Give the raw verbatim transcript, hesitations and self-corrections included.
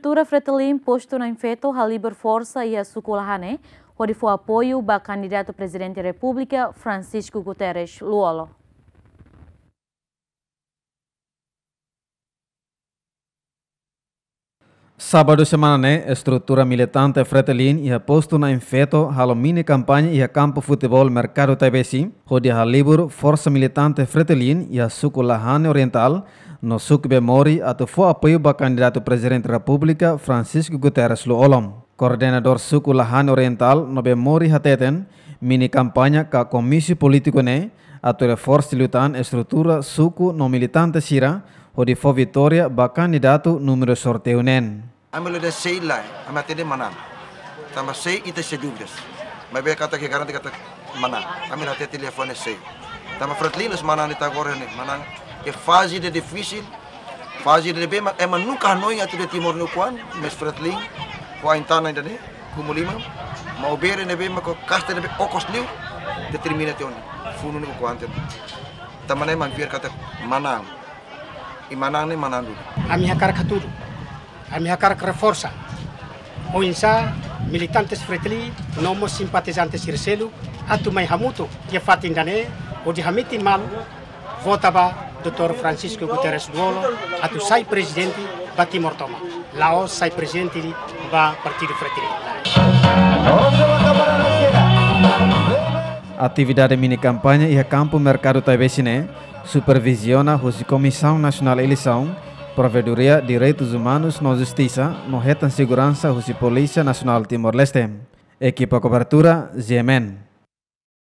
Estrutura Fretilin postu Na'in Feto halibur forsa iha suku Lahane, hodi fó apoiu ba kandidatu Prezidente Repúblika Francisco Guterres Lú-Olo. Sábadu semana ne'e, estrutura militante Fretilin iha postu Na'in Feto halo mini kampaña iha kampu futeból Merkadu Taibesi, hodi halibur forsa militante Fretilin iha suku Lahane Orientál, no suku Bemori atu fó apoiu ba kandidatu Prezidente Repúblika Francisco Guterres Lú-Olo. Koordenadór suku Lahane Orientál no Bemori hateten, mini kampaña ka komísiu polítiku ne'e atu reforsa liután estrutura suku no militante sira hodi fó vitória ba kandidatu númeru sorteiu neen. Ami la dehan sei lae, ami hatene manán. Tanba sei ita sei dúvidas. Maibé katak ke garante katak manán. Ami la hatete liafuan ne'e sei. Tanba Fretilin la'ós manán de'it agora ne'e, manán iha faze ida difisil, faze ida ne'ebé mak ema nunka hanoin atu dehan Timor ne'e ukun an, mais Fretilin ho ain-tanan ida ne'e, Kumuliman, Maubere ne'ebé mak ho kasta ne'ebé okos liu, determina tiha ona funu ne'e ukun an tiha ona. Tanba ne'e mak fiar katak manán. I manán ne'e manán duni. Ami hakarak hatudu. Ami hakarak reforsa. Oinsá militantes Fretilin no mós simpatizante sira seluk atu mai hamutuk iha fatin ida ne'e, hodi hametin malu vota ba doutór Francisco Guterres Lú-Olo atu sai prezidente ba Timor tomak. La'ós sai prezidente ba Partidu Fretilin. Atividade mini kampaña iha kampu Merkadu Taibesi ne'e superviziona husi Komisaun Nasionál Eleisaun, Provedoria Direitus Umanus no Justisa, no hetan seguransa husi Polísia Nasionál Timor-Leste. Ekipa kobertura, G M N.